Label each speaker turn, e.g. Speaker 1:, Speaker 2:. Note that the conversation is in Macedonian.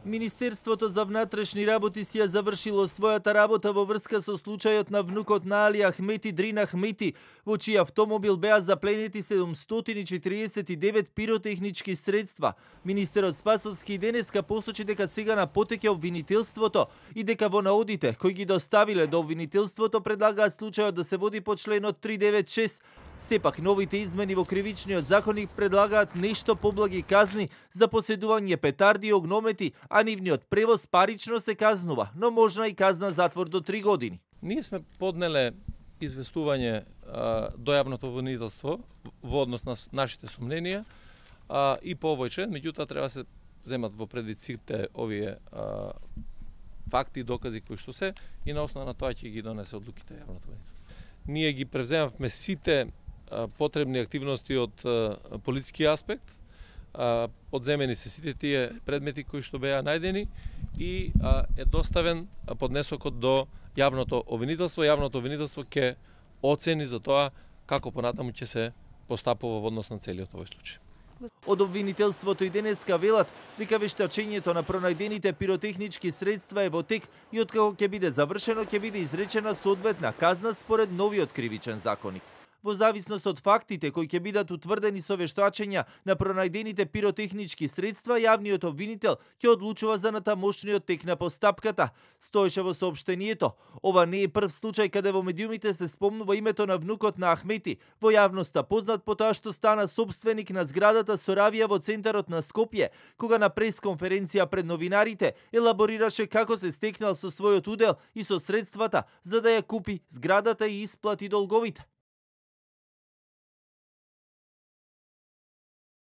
Speaker 1: Министерството за внатрешни работи си ја завршило својата работа во врска со случајот на внукот на Али Ахмети Дрин Ахмети, во чиј автомобил беа запленети 749 пиротехнички средства. Министерот Спасовски денеска посочи дека сега на потеќе обвинителството и дека во наодите кои ги доставиле до обвинителството предлагаат случајот да се води по членот 396. Сепак, новите измени во кривичниот законник предлагаат нешто поблаги казни за поседување петарди и огномети, а нивниот превоз парично се казнува, но можна и казна затвор до 3 години.
Speaker 2: Ние сме поднеле известување до јавното обвинителство во однос на нашите сомненија и по овој член, меѓутоа треба се земат во предвид сите овие факти и докази кои што се и на основа на тоа ќе ги донесе одлуките јавното обвинителство. Ние ги превземавме сите потребни активности од политички аспект, одземени се сите тие предмети кои што беа најдени и е доставен поднесокот до јавното обвинителство. Јавното обвинителство ќе оцени за тоа како понатаму ќе се постапува во однос на целиот овој случај.
Speaker 1: Од обвинителството и денеска велат дека вештачењето на пронајдените пиротехнички средства е во тек и откако ќе биде завршено ќе биде изречена соодветна казна според новиот кривичен законник. Во зависност од фактите кои ќе бидат утврдени со вештачења на пронајдените пиротехнички средства, јавниот обвинител ќе одлучува за натамошниот тек на постапката. Стоеше во соопштението. Ова не е прв случај каде во медиумите се спомнува името на внукот на Ахмети, во јавноста познат по тоа што стана сопственик на зградата Соравија во центарот на Скопје, кога на пресконференција пред новинарите елаборираше како се стекнал со својот удел и со средствата за да ја купи зградата и исплати долговите.